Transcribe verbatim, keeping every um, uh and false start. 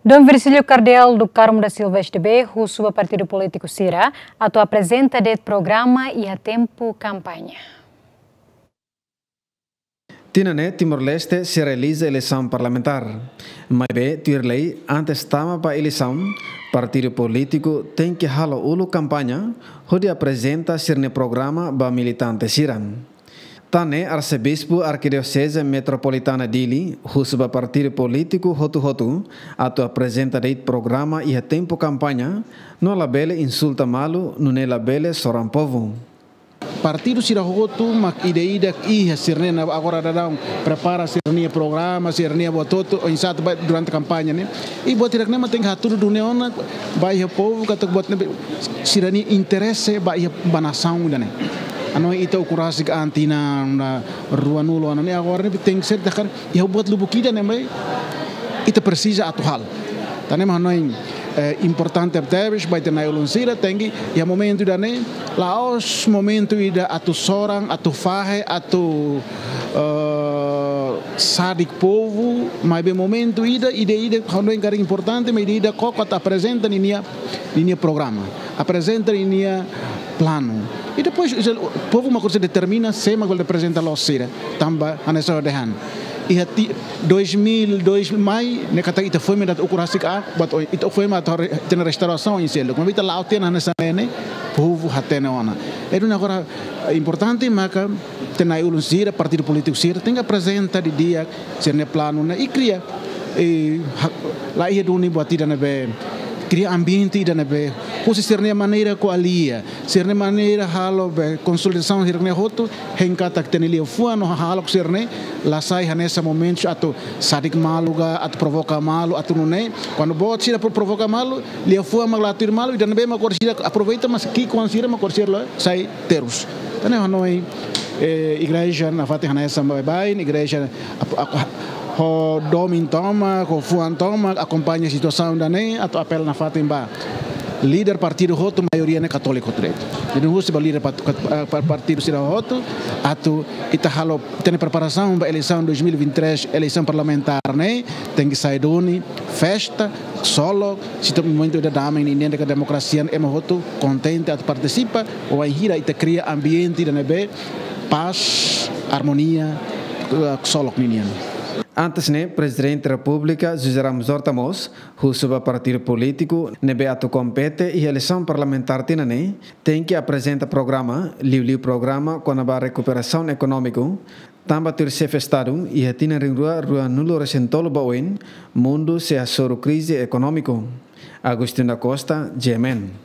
Dom Virgílio Cardeal do Carmo da Silva, S D B, husu ba partidu polítiku sira atu aprezenta de'it programa iha tempu kampaña. Tinan ne'e Timor-Leste sei realiza eleisaun parlamentár. Maibé tuir lei, antes tama ba eleisaun, partidu polítiku tenke halo uluk kampaña hodi aprezenta sira-nia programa ba militante sira. Tan ne'e Arsebispu Arkidioseze Metropolitana Dili husu ba partidu polítiku hotu-hotu atu aprezenta de'it programa iha tempu kampaña, no labele insulta malu, nune'e labele soran povu. Partidu sira hotu mak ida-idak iha sira-nia ne'e agora daudaun prepara sira-nia programa, sira-nia buat hotu, oinsá atu ba durante kampaña ne'e. I buat hirak-ne'e mak tenke hatudu duni ona ba iha povu katak buat ne'e sira-nia interese ba iha ba nasaun ida-ne'e. Hanoin ita ukun rasik an tinan ruanulu ona ne'e, agora ne'e tenke ser takar iha buat lubuk ida ne'ebé ita presiza atu halo. Tan ne'e mak hanoin, eh, importante tebes ba ita na'i-ulun sira, tenke iha momentu ida-ne'e la'ós momentu ida atu soran, atu fahe, atu, eh, sadik povu, maibé momentu ida, ida-idak hanoin karik importante, maibé ida-idak koko atu aprezenta ninia, ninia programa, aprezenta ninia planu. I depois, povu mak orsida determina sé mak bele reprezenta loos sira. Tanba hanesan ha'u dehan, iha ti-, dois mil, dois mil mai, ne'e katak ita foin mak ukun rasik an, buat oin, ita foin mak atu re-, hatene restaurasaun oin seluk. Maibé ita la'o tiha ona hanesan ne'e, povu hatene ona. Entaun agora, eh, importante maka ita na'i-ulun sira, partidu polítiku sira, tenke aprezenta didi'ak sira-nia planu ne'e i kria, eh, ha-, laiha duni buat ida ne'ebé, kria ambiente ida ne'ebé, husi sira-nia maneira ko'alia, sira-nia maneira halo be konsolidasaun sira-ne'e hotu, hein katak ita-nia liafuan no hahalok sira-ne'e la sai hanesan momentu atu sadik malu ka, atu provoka malu, atu nune'e. Kuandu boot sira pro-, provoka malu, liafuan mak la tuir malu, ida ne'ebé mak orsida aproveita, mas ki'ikoan sira mak orsida la sai terus. Tan ne'e hanoin, eh, igreja nafatin hanesan baibain, igreja ap-, ap-, ho domin tomak, ho fuan tomak, akompaña situasaun ida-ne'e, atu apela nafatin ba líder partidu hotu, maioria ne'e katóliku hotu de'it. Jadi husu ba líder pat-, kat-, eh, par-, partidu sira hotu, atu ita halo, ita-nia preparasaun ba eleisaun dois mil e vinte e três, eleisaun parlamentár ne'e, tenke sai duni festa, ksolok, situ momentu ida dame ninian, ne'e katak demokrasia, ema hotu kontente atu partisipa, wainhira ita kria ambiente ida ne'ebé pás, armonia, eh, ksolok ninian. Antes ne'e, Prezidente Repúblika José Ramos Horta mós husu ba partidu polítiku ne'ebé atu kompete iha eleisaun parlamentár tinan ne'e, tenke aprezenta programa, liuliu programa kona-ba rekuperasaun ekonómiku, tanba tuir Xefe Estadu, iha tinan rihun rua ruanulu-resin-tolu ba oin, mundu sei hasoru krize ekonómiku. Agostinho da Costa, G M N.